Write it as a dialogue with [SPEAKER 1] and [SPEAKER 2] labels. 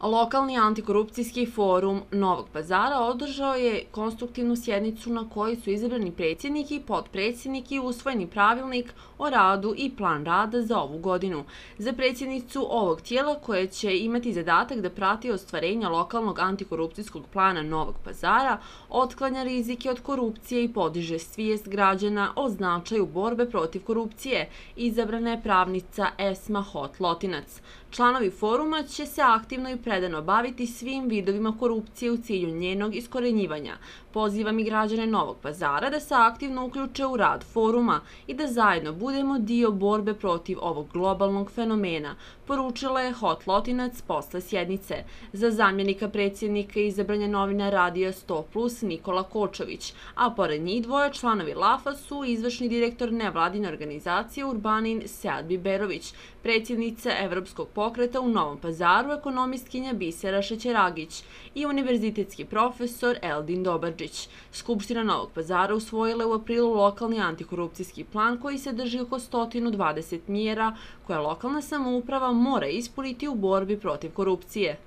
[SPEAKER 1] Lokalni antikorupcijski forum Novog Pazara održao je konstruktivnu sjednicu na kojoj su izabrani predsjednik i potpredsjednik i usvojeni pravilnik o radu i plan rada za ovu godinu. Za predsjednicu ovog tijela, koje će imati zadatak da prati ostvarenja lokalnog antikorupcijskog plana Novog Pazara, otklanja rizike od korupcije i podiže svijest građana o značaju borbe protiv korupcije, izabrana je pravnica Esma Hot-Lotinac. Članovi foruma će se aktivno i predano baviti svim vidovima korupcije u cilju njenog iskorenjivanja. Pozivam i građane Novog Pazara da se aktivno uključe u rad foruma i da zajedno budemo dio borbe protiv ovog globalnog fenomena, poručila je Hot-Lotinac posle sjednice. Za zamjenika predsjednika izabran je novinar Radija 100+ Nikola Kočović, a pored njih dvoje članovi LAF-a su izvršni direktor nevladine organizacije Urbanin Sead Biberović, predsjednica Evropskog pokreta u Novom Pazaru ekonomistkinja Bisera Šećeragić i univerzitetski profesor Eldin Dobarđić. Skupština Novog Pazara usvojila je u aprilu lokalni antikorupcijski plan koji sadrži oko 120 mjera koje lokalna samouprava mora ispuniti u borbi protiv korupcije.